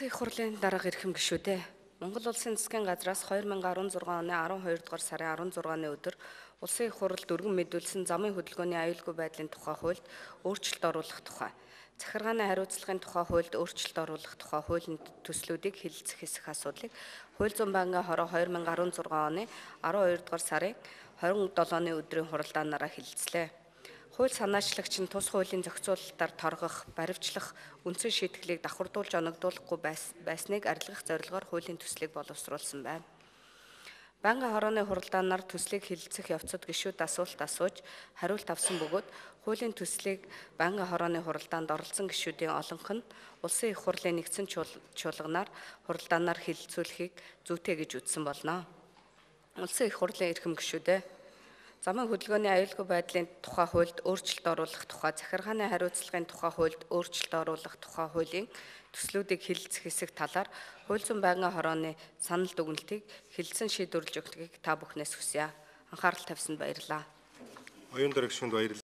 Улсын их хурлын дарга эрхэм гишүүдээ Монгол Улсын засгийн газраас 2016 оны 12 дугаар сарын 16-ны өдөр Улсын их хурлд өргөн мэдүүлсэн замын хөдөлгөөний аюулгүй байдлын тухай хуульд өөрчлөлт оруулах тухай, захиргааны хариуцлагын тухай хуульд өөрчлөлт оруулах тухай хуулийн төслүүдийг хэлэлцэх хэсэг асуудлыг Хууль зүйн байнгын хороо 2016 оны 12 дугаар сарын 27-ны өдрийн хуралдаанаараа хэлэлцлээ. Хууль санаачлагч нь тус хуулийн зохицуулалтаар торгох, баривчлах, үндсэн шийтгэлийг давхардуулж оногдуулахгүй байсныг арилгах зорилгоор хуулийн төслийг боловсруулсан байна. Байнгын хорооны хуралдаанаар төслийг хэлэлцэх явцад гишүүд асуулт асууж, хариулт авсан бөгөөд хуулийн төслийг байнгын хорооны хуралдаанд оролцсон гишүүдийн олонх нь Улсын их хурлын нэгдсэн чуулганаар хуралдаанаар хэлэлцүүлэхийг зүйтэй гэж үзсэн болно. Улсын их хурлын эрхэм гишүүдээ замын хөдөлгөөний аюулгүй байдлын тухай хуульд өөрчлөлт оруулах тухай, захиргааны хариуцлагын тухай хуульд өөрчлөлт оруулах тухай хуулийн төслүүдийг хэлэлцэх хэсэг талаар Хууль зүйн байнгын хорооны санал дүгнэлтийг хэлэлцэн шийдвэрлэж өгөхийг та бүхнээс хүсье. Анхаарал тавьсанд баярлалаа. Оюун дарагчид баярлалаа.